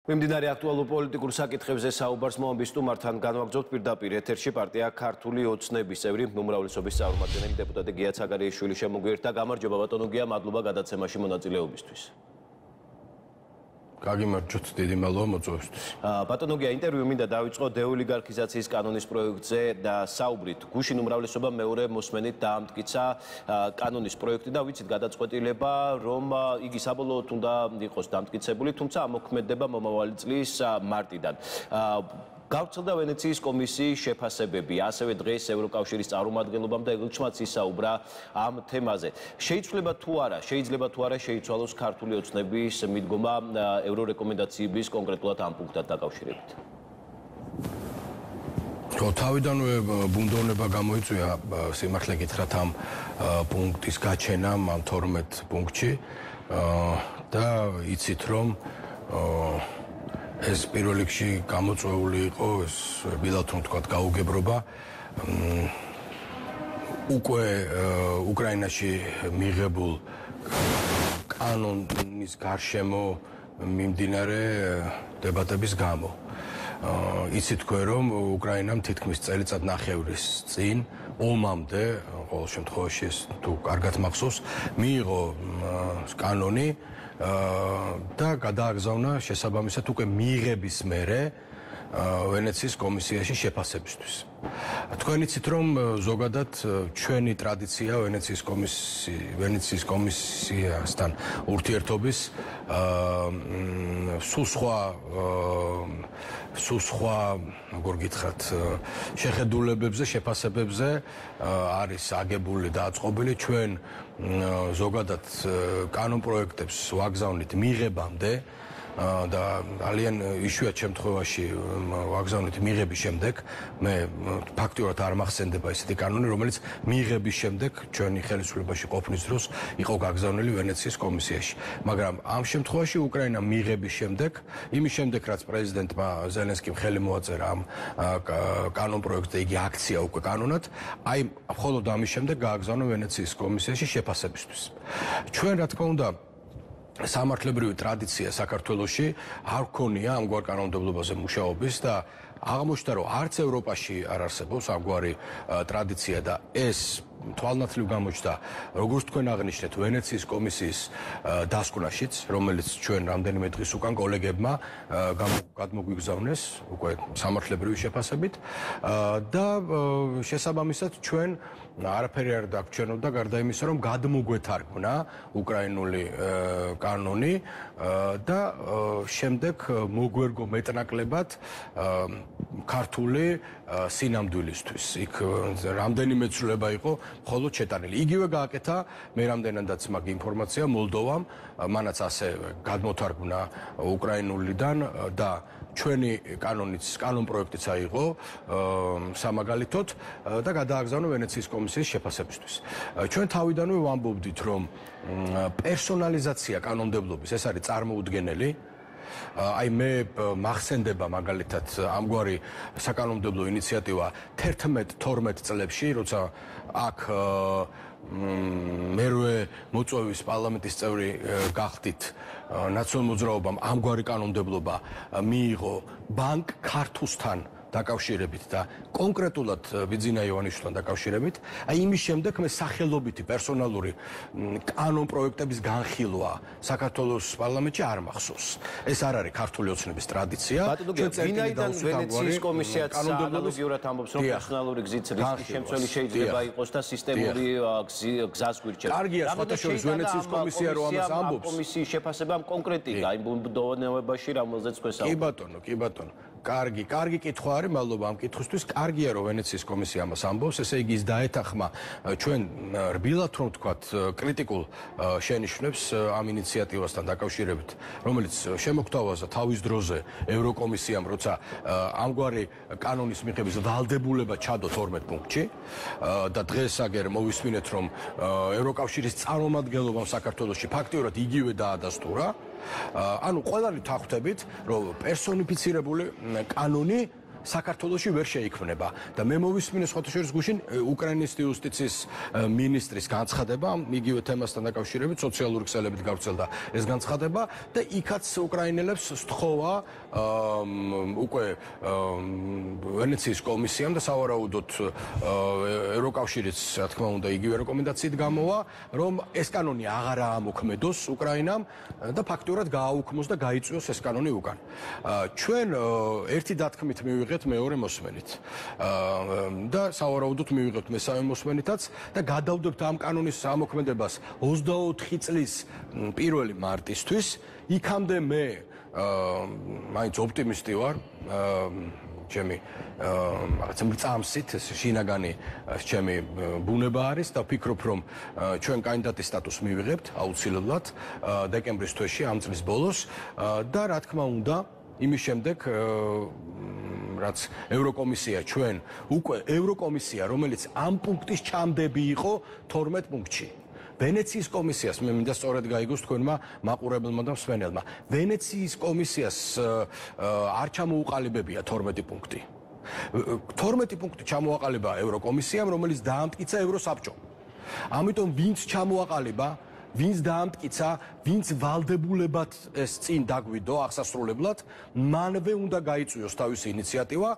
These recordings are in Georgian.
მიმდინარე აქტუალურ პოლიტიკურ საკითხებზე საუბარს მომაბის სტუმართან განვაგრძობთ პირდაპირ ეთერში პარტია ქართული ოცნების წევრი უმრავლესობის წარმომადგენელი დეპუტატი გია ცაგარიაშვილი შემოგვიერთდა. გამარჯობა ბატონო გია, მადლობა გადაცემაში მონაწილეობისთვის. გაგიმარჯოთ, დიდი მადლობა მოწვევისთვის. ბატონო გია, ინტერვიუ მინდა დავიწყო დეოლიგარქიზაციის კანონის პროექტზე და საუბრით. გუშინ უმრავლესობა მეორე მოსმენით დაამტკიცა კანონის პროექტი და ვიცით გადაწყვეტილება, რომ იგი საბოლოოდ უნდა იყოს დამტკიცებული, თუმცა ამოქმედება მომავალი წლის მარტიდან. გავრცელდა ვენეციის კომისიის შეფასებები, ასევე დღეს ევროკავშირის წარმომადგენლობამ და ელჩმაც ისაუბრა ამ თემაზე. შეიძლება თუ არა შეიცვალოს ქართული ოცნების მიდგომა ევრორეკომენდაციების კონკრეტულად ამ პუნქტთან დაკავშირებით? თავიდანვე ბუნდოვნება გამოიწვია სიმართლე გითხრათ ამ პუნქტის გაჩენამ ამ 12 პუნქტში და იცით რომ ეს პირველ რიგში გამოწვეული იყო ეს რბილად რომ თქვა გაუგებრობა უკვე უკრაინაში მიღებულ კანონის გარშემო მიმდინარე დებატების გამო. იცით თქვენ რომ უკრაინამ თითქმის წელიწად ნახევრის წინ ომამდე ყოველ შემთხვევაში ეს თუ კარგად მახსოვს მიიღო კანონი და გადააგზავნა შესაბამისად უკვე მიღების მერე ვენეციის კომისიაში შეფასებისთვის. თქვენ იცით რომ ზოგადად ჩვენი ტრადიცია ვენეციის კომისიასთან ურთიერთობის სულ სხვა როგორ გითხრათ შეხედულებებზე, შეფასებებზე არის აგებული და აწყობილი. ჩვენ ზოგადად კანონ პროექტებს ვაგზავნით მიღებამდე და ძალიან იშვიათ შემთხვევაში ვაგზავნით მიღების შემდეგ მე ფაქტიურად არ მახსენდება ესეთი კანონი, რომელიც მიღების შემდეგ ჩვენი ხელისუფლებაში ყოფნის დროს იყო გაგზავნილი ვენეციის კომისიაში. მაგრამ ამ შემთხვევაში უკრაინა მიღების შემდეგ, იმის შემდეგ რაც პრეზიდენტმა ზელენსკიმ ხელი მოაწერა ამ კანონ პროექტზე, იგი აქცია უკვე კანონად, აი მხოლოდ ამის შემდეგ გააგზავნა ვენეციის კომისიაში შეფასებისთვის. ჩვენ რა თქმა უნდა სამართლებრივი ტრადიცია საქართველოში არ ქონია ამგვარ კანონმდებლობაზე მუშაობის და აღმოჩნდა რომ არც ევროპაში არ არსებობს ამგვარი ტრადიცია და ეს თვალნათლივ გამოჩნდა როგორც თქვენ აღნიშნეთ ვენეციის კომისიის დასკვნაშიც, რომელიც ჩვენ რამდენიმე დღის უკან კოლეგებმა გადმოგვიგზავნეს უკვე სამართლებრივი შეფასებით და შესაბამისად ჩვენ არაფერი არ დაგჩვენებდა გარდა იმისა, რომ გადმოგვეთარგმნა უკრაინული კანონი და შემდეგ მოგვერგო მეტნაკლებად ქართული სინამდვილისთვის. იქ რამდენიმე ცვლილება იყო მხოლოდ შეტანილი. იგივე გააკეთა მე რამდენადაც მაგ ინფორმაცია მოლდოვამ, მანაც ასე გადმოთარგმნა უკრაინულიდან და ჩვენი კანონ პროექტიც აიღო სამაგალითოდ და გადააგზავნა ვენეციის კომისიის შეფასებისთვის. ჩვენ თავიდანვე ვამბობდით, რომ პერსონალიზაცია კანონმდებლობის ეს არის წარმოუდგენელი. აი მე მახსენდება მაგალითად ამგვარი საკანონმდებლო ინიციატივა 11-12 წლებში, როცა აქ მერვე მოწვევის პარლამენტის წევრი გახდით ნაციონალურ მოძრაობამ ამგვარი კანონმდებლობა მიიღო ბანკ ქართუსთან დაკავშირებით და კონკრეტულად ბიძინა ივანიშვილთან დაკავშირებით. აი იმის შემდეგ მე სახელობითი პერსონალური კანონ პროექტების განხილვა საქართველოს პარლამენტში არ მახსოვს. ეს არ არის ქართული ოცნების ტრადიცია. ვინაიდან ვენეციის კომისიაც ანალოგიურად ამბობს, რომ პერსონალური გზით რისკის შემცველი შეიძლება იყოს და სისტემური გზას გვირჩევს. კარგია, სხვათაშორის ვენეციის კომისია რომ ამას ამბობს. კომისიის შეფასებამ კონკრეტიკა იმ ბუნდოვანებაში, რომელზეც თქვენ საუბრობთ. კი ბატონო. კარგი კითხვა არის, მადლობა ამ კითხვისთვის. კარგია რომ ვენეციის კომისია ამას ამბობს, ესე იგი ის დაეთანხმა ჩვენ რბილად რომ ვთქვათ კრიტიკულ შენიშვნებს ამ ინიციატივასთან დაკავშირებით, რომელიც შემოგთავაზა თავის დროზე ევროკომისიამ, როცა ამგვარი კანონის მიღების ვალდებულება ჩადო 12 პუნქტში და დღეს აგერ მოვისმინეთ, რომ ევროკავშირის წარმომადგენლობამ საქართველოში ფაქტიურად იგივე დაადასტურა. ანუ ყველანი თახვდებით, რომ პერსონიფიცირებული კანონი საქართველოში ვერ შეიქმნება და მე მოვისმინე სხვათა შორის გუშინ უკრაინის იუსტიციის მინისტრის განცხადება იგივე თემასთან დაკავშირებით სოციალური ქსელებით გავრცელდა ეს განცხადება და იქაც უკრაინელებს სთხოვა უკვე ვენეციის კომისიამ და სავარაუდოდ ევროკავშირიც რა თქმა უნდა იგივე რეკომენდაციით გამოვა რომ ეს კანონი აღარა ამოქმედოს უკრაინამ და ფაქტურად გააუქმოს და გაიწვიოს ეს კანონი უკან. ჩვენ ერთი დათქმით მივიღეთ მეორე მოსმენით და სავარაუდოდ მივიღეთ მესამე მოსმენითაც და გადავდებთ ამ კანონის ამოქმედებას 24 წლის 1 მარტისთვის. იქამდე მე მაინც ოპტიმისტი ვარ ჩემი რაღაცა მრწამსით ეს შინაგანი ჩემი ბუნება არის და ვფიქრობ რომ ჩვენ კანდიდატის სტატუსს მივიღებთ აუცილებლად დეკემბრის თვეში ამ წლის ბოლოს და რა თქმა უნდა იმის შემდეგ რაც ევროკომისია ჩვენ უკვე ევროკომისია რომელიც ამ პუნქტის ჩამდები იყო 12 პუნქტში ვენეციის კომისიას მე მინდა სწორედ გაიგოს თქვენმა მაყურებელმა და მსმენელმა ვენეციის კომისიას არ ჩამოუყალიბებია 12 პუნქტი 12 პუნქტი ჩამოაყალიბა ევროკომისიამ რომელიც დაამტკიცა ევროსაბჭომ ამიტომ ვინც ჩამოაყალიბა ვინც დაამტკიცა ვინც ვალდებულებად ეს წინ დაგვიდო აღსასრულებლად მანვე უნდა გაიწვიოს თავისი ინიციატივა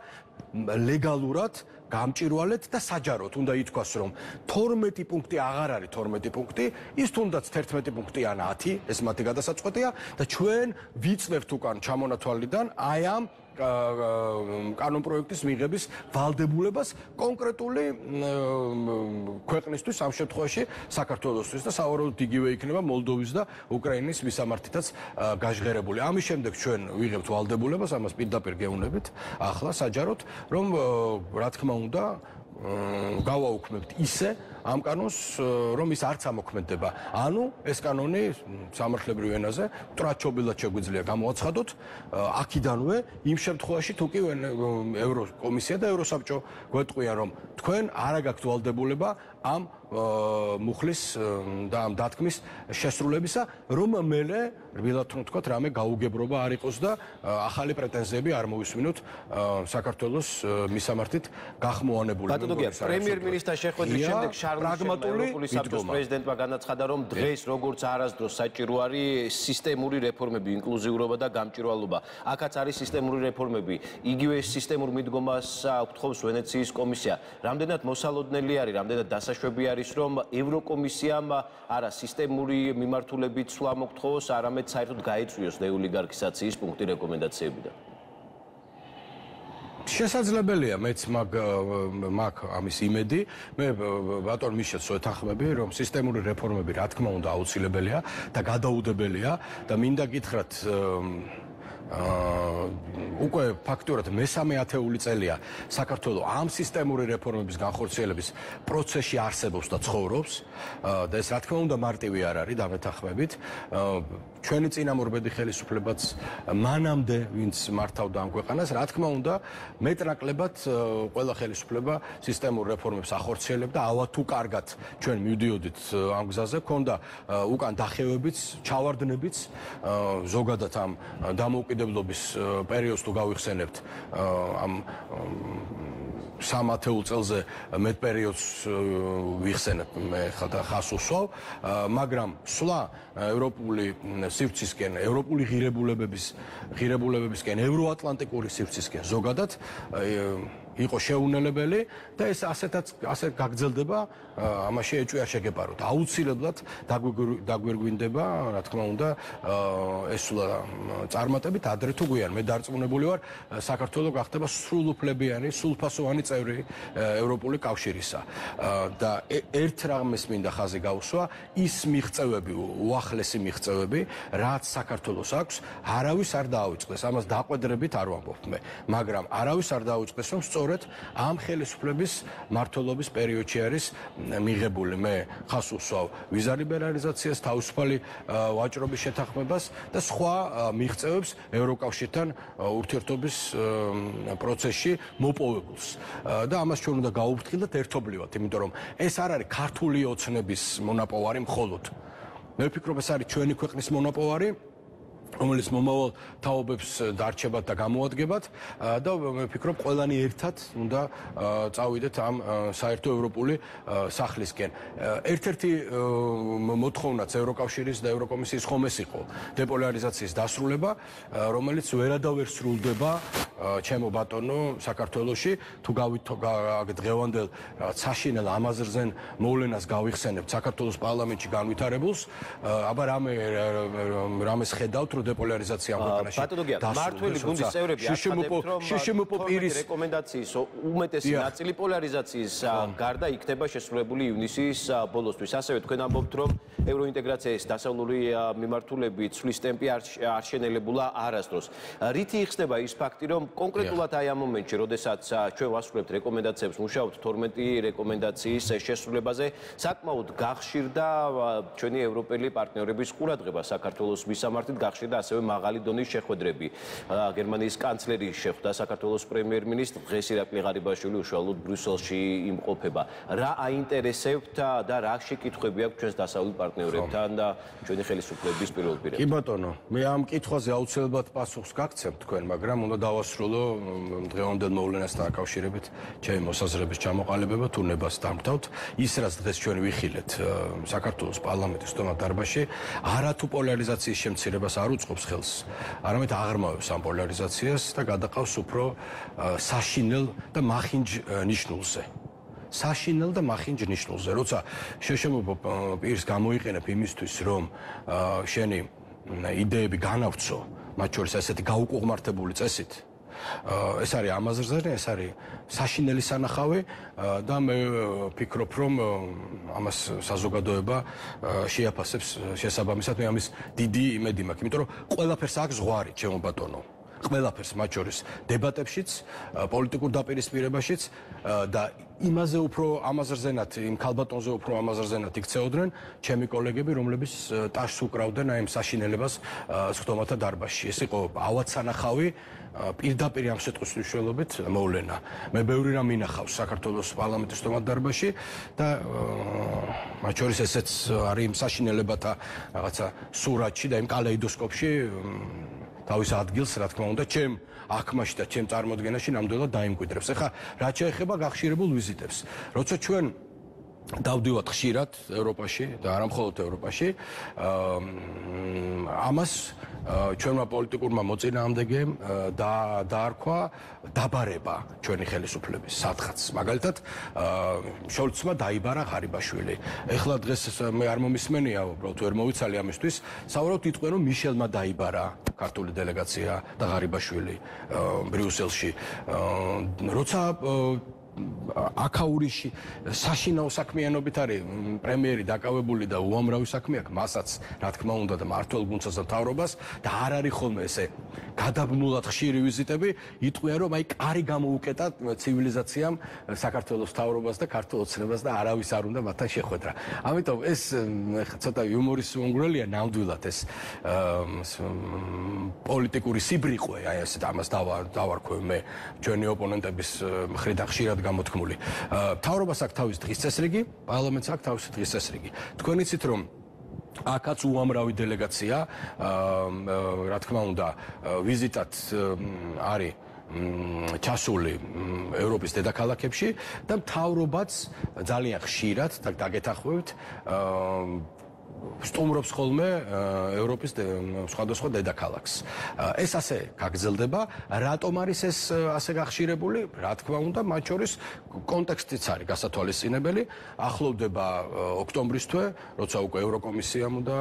ლეგალურად გამჭირვალეთ და საჯაროდ უნდა ითქვას რომ 12 პუნქტი აღარ არის 12 პუნქტი ის თუნდაც 11 პუნქტი ან 10 ეს მათი გადასაწყვეტია და ჩვენ ვიწვევთ უკან ჩამონათვალიდან აი ამ კანონპროექტის მიღების ვალდებულებას კონკრეტული ქვეყნისთვის ამ შემთხვევაში საქართველოსთვის და სავარაუდოდ იგივე იქნება მოლდოვის და უკრაინის მისამართითაც გაჟღერებული. ამის შემდეგ ჩვენ ვიღებთ ვალდებულებას, ამას პირდაპირ გეუბნებით ახლა საჯაროდ, რომ რა თქმა უნდა გავაუქმებთ ისე ამ კანონს, რომ ის არც ამოქმედება. ანუ ეს კანონი სამართლებრივ ენაზე ტრაჩობილად შეგვიძლია გამოაცხადოთ აქიდანვე იმ შემთხვევაში თუ კი ევროკომისია და ევროსაბჭო გვეტყვიან რომ თქვენ არ აგაქვთ ვალდებულება ამ მუხლის და ამ დათქმის შესრულებისა, რომ მელე რბილად თქვათ რამე გაუგებრობა არ იყოს და ახალი პრეტენზიები არ მოვისმინოთ საქართველოს მისამართით გახმოვანებული. პრემიერ-მინისტრთან შეხვედრის შემდეგ ევროპული საბჭოს პრეზიდენტმა განაცხადა, რომ დღეს როგორც არასდროს საჭირო არის სისტემური რეფორმები, ინკლუზიურობა და გამჭვირვალობა. აქაც არის სისტემური რეფორმები. იგივე სისტემურ მიდგომას უთხოვს ვენეციის კომისია. რამდენად მოსალოდნელი არის, რამდენად დასაშვები არის, რომ ევროკომისიამ არა სისტემური მიმართულებით სვლა მოგთხოვოს, არამედ საერთოდ გაიწვიოს დეოლიგარქიზაციის პუნქტი რეკომენდაციებიდან. შესაძლებელია მეც მაგ ამის იმედი მე ბატონ მიშელს ვეთანხმები რომ სისტემური რეფორმები რა თქმა უნდა აუცილებელია და გადაუდებელია და მინდა გითხრათ უკვე ფაქტურად მესამე ათეული წელია საქართველოს ამ სისტემური რეფორმების განხორციელების პროცესში არსებობს და ცხოვრობს და ეს რა თქმა უნდა მარტივი არ არის დამეთანხმებით ჩვენი წინამორბედი ხელისუფლებაც მანამდე ვინც მართავდა ამ ქვეყანას რა თქმა უნდა მეტნაკლებად ყველა ხელისუფლება სისტემურ რეფორმებს ახორციელებდა ავა თუ კარგად ჩვენ მივდიოდით ამ გზაზე ქონდა უკან დახევებიც ჩავარდნებიც ზოგადად ამ დამოუკიდებლობის პერიოდს თუ გავიხსენებთ ამ 3 ათეულ წელზე მეტ პერიოდს ვიხსენებ მე ხა ხას უსვავ მაგრამ სვლა ევროპული სივრცისკენ ევროპული ღირებულებებისკენ ევროატლანტიკური სივრცისკენ ზოგადად იყო შეუნელებელი და ეს ასე გაგრძელდება ამაში ეჭვი არ შეგეპაროთ აუცილებლად დაგვირგვინდება რა თქმა უნდა ეს წარმატებით ადრე თუ გვიან მე დარწმუნებული ვარ საქართველოს გახდება სრულუფლებიანი სრულფასოვანი წევრი ევროპული კავშირისა და ერთ რამეს მინდა ხაზი გავუსვა ის მიღწევები უახლესი მიღწევები რაც საქართველოს აქვს არავის არ დაავიწყდეს ამას დაყვედრებით არ ვამბობ მე მაგრამ არავის არ დაავიწყდეს რომ სწორედ ამ ხელისუფლების მმართველობის პერიოდში არის მიღებული მე ხას უსვავ ვიზა ლიბერალიზაციას თავისუფალი ვაჭრობის შეთანხმებას და სხვა მიღწევებს ევროკავშირთან ურთიერთობის პროცესში მოპოვებულს და ამას ჩვენ უნდა გაუფრთხილდეთ ერთობლივად იმიტომ რომ ეს არ არის ქართული ოცნების მონაპოვარი მხოლოდ მე ვფიქრობ ეს არის ჩვენი ქვეყნის მონაპოვარი რომელიც მომავალ თაობებს დარჩებათ და გამოადგებათ და მე ვფიქრობ ყველანი ერთად უნდა წავიდეთ ამ საერთო ევროპული სახლისკენ. ერთ-ერთი მოთხოვნაც ევროკავშირის და ევროკომისიის ხომ ეს იყო დეპოლარიზაციის დასრულება, რომელიც ვერადავერ სრულდება ჩემო ბატონო საქართველოში თუ დღევანდელ საშინელ ამაზრზენ მოვლენას გავიხსენებთ საქართველოს პარლამენტში განვითარებულს, აბა რამეს ხედავთ რომ დეპოლარიზაცია ამ ქვეყანაში მართველი გუნდის წევრები შშმპ პირის რეკომენდაციის უმეტესი ნაწილი პოლარიზაციის გარდა იქნება შესრულებული ივნისის ბოლოსთვის. ასევე თქვენ ამბობთ რომ ევროინტეგრაციის დასავლური მიმართულებით ცვლის ტემპი არ შენელებულა არასდროს. რითი იხსნება ის ფაქტი რომ კონკრეტულად აი ამ მომენტში, როდესაც ჩვენ ვასრულებთ რეკომენდაციებს, მუშაობთ 12 რეკომენდაციის შესრულებაზე, საკმაოდ გახშირდა ჩვენი ევროპელი პარტნიორების ყურადღება საქართველოს მისამართით, გახშირდა ასევე მაღალი დონის შეხვედრები. გერმანიის კანცლერი შეხვდა საქართველოს პრემიერ-მინისტრს, დღეს ირაკლი ღარიბაშვილი უშუალოდ ბრიუსელში იმყოფება. რა აინტერესებთ და რა შეკითხვები აქვს ჩვენს დასავლურ პარტნიორებთან და ჩვენი ხელისუფლების პირველ პირებს? კი ბატონო, მე ამ კითხვაზე აუცილებლად პასუხს გაგცემთ თქვენ, მაგრამ უნდა დავასრულო დღევანდელ მოვლენასთან დაკავშირებით ჩემი მოსაზრების ჩამოყალიბება თუ ნებას დამთავრდ. ის რაც დღეს ჩვენ ვიხილეთ საქართველოს პარლამენტის სტომატ დარბაზში, არათუ პოლარიზაციის შემცირებას არ უწყობს ხელს, არამედ აღრმავებს ამ პოლარიზაციას და გადაყავს უფრო საშინელ და მახინჯ ნიშნულზე. საშინელ და მახინჯ ნიშნულზე, როცა შშმპ პირს გამოიყენებ იმისთვის, რომ შენი იდეები განავრცო, მათ შორის ესეთი გაუკუღმართებული წესით, ეს არის ამაზრზენი, ეს არის საშინელი სანახავი და მე ვფიქრობ, რომ ამას საზოგადოება შეაფასებს შესაბამისად. მე ამის დიდი იმედი მაქვს, იმიტომ რომ ყველაფერს აქვს ზღვარი, ჩემო ბატონო. ყველაფერს, მათ შორის დებატებშიც, პოლიტიკურ დაპირისპირებაშიც და იმაზე უფრო ამაზრზენად, იმ ქალბატონზე უფრო ამაზრზენად იქცეოდნენ ჩემი კოლეგები, რომლებიც ტაშს უკრავდნენ აი ამ საშინელებას სხდომათა დარბაზში. ეს იყო ავადსანახავი პირდაპირ ამ სიტყვის მნიშვნელობით მოვლენა. მე ბევრი რამ მინახავს საქართველოს პარლამენტის სტომატ დარბაზში და მათ შორის ესეც არის იმ საშინელებათა რაღაცა სურათში და იმ კალეიდოსკოპში თავის ადგილს, რა თქმა უნდა, ჩემ აქმაში და ჩემ წარმოდგენაში ნამდვილად დაიმკვიდრებს. ეხლა რაც შეეხება გახშირებულ ვიზიტებს, როცა ჩვენ დავდივართ ხშირად ევროპაში და არა მხოლოდ ევროპაში, ამას ჩვენმა პოლიტიკურმა მოწინააღმდეგემ დაარქვა დაბარება ჩვენი ხელისუფლების სათხაც. მაგალითად, შოლცმა დაიბარა ღარიბაშვილი. ეხლა დღეს მე არ მომისმენია, უბრალოდ ვერ მოვიცალი ამისთვის, საუბრობთ იტყვენ რომ მიშელმა დაიბარა ქართული დელეგაცია და ღარიბაშვილი ბრიუსელში. როცა აქაურიში საშინაო საქმიანობით არის პრემიერი დაკავებული და უამრავი საქმე აქვს, მასაც რა თქმა უნდა და მართლ გუნდსაც და მთავრობას და არ არის ხოლმე ესე გადაბმულად ხშირი ვიზიტები, იტყვიან რომ აი კარი გამოუკეტა ცივილიზაციამ საქართველოს მთავრობას და ქართულ ოცნებას და არავის არ უნდა მათთან შეხვედრა. ამიტომ ეს ცოტა იუმორის უნგრელია ნამდვილად ეს პოლიტიკური სიბრიყვე, აი ესეთ ამას დავარქვევ მე ჩვენი ოპონენტების მხრიდან ხშირად გამოთქმული. მთავრობას აქვს თავის დღის წესრიგი, პარლამენტს აქვს თავისი დღის წესრიგი. თქვენ იცით რომ აქაც უამრავი დელეგაცია, რა თქმა უნდა, ვიზიტად არის ჩასული ევროპის დედაქალაქებში და მთავრობაც ძალიან ხშირად და დაგეთახვევთ სტუმრობს ხოლმე ევროპის სხვადასხვა დედაქალაქს. ეს ასე გაგრძელდება. რატომ არის ეს ასე გახშირებული? რა თქმა უნდა, მათ შორის კონტექსტიც არის გასათვალისწინებელი. ახლოვდება ოქტომბრის თვე, როცა უკვე ევროკომისიამ უნდა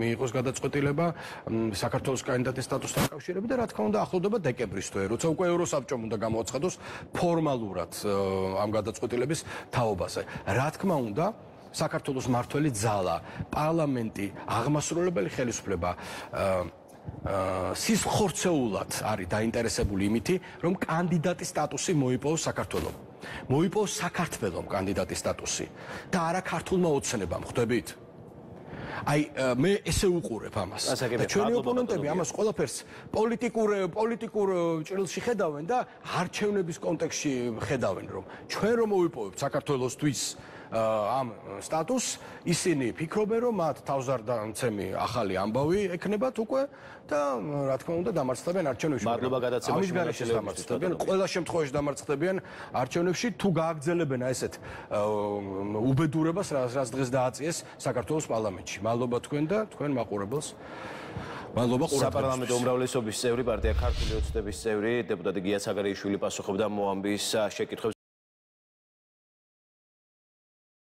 მიიღოს გადაწყვეტილება საქართველოს კანდიდატის სტატუსთან დაკავშირებით და რა თქმა უნდა, ახლოვდება დეკემბრის თვე, როცა უკვე ევროსაბჭომ უნდა გამოაცხადოს ფორმალურად ამ გადაწყვეტილების თაობაზე. რა თქმა უნდა, საქართველოს მართველი ძალა, პარლამენტი, აღმასრულებელი ხელისუფლება სისხლხორცეულად არის დაინტერესებული იმითი, რომ კანდიდატის სტატუსი მოიპოვოს საქართველოს. მოიპოვოს საქართველოს კანდიდატის სტატუსი და არა ქართულმა ოცნებამ, ხვდებით? აი მე ესე უყურებ ამას. და ჩვენი ოპონენტები ამას ყველაფერს პოლიტიკურ ჭრილში ხედავენ და არჩევნების კონტექსტში ხედავენ, რომ ჩვენ რომ მოვიპოვებთ საქართველოსთვის ამ სტატუსს, ისინი ფიქრობენ, რომ მათ თავზარდაცემი ახალი ამბავი ექნებათ უკვე და რა თქმა უნდა დამარცხდებიან არჩევნებში. მადლობა გადაცემაში. ამის გარეშე დამარცხდებიან, ყველა შემთხვევაში დამარცხდებიან არჩევნებში, თუ გააგრძელებენ ესეთ უბედურებას, რაც დღეს დააწიეს საქართველოს პარლამენტში. მადლობა თქვენ და თქვენ მაყურებელს. მადლობა ყურადღებისთვის. საპარლამენტო უმრავლესობის წევრი, პარტია ქართული ოცნების წევრი, დეპუტატი გია ცაგარიშვილი პასუხობდა მოამბის შეკითხვებს.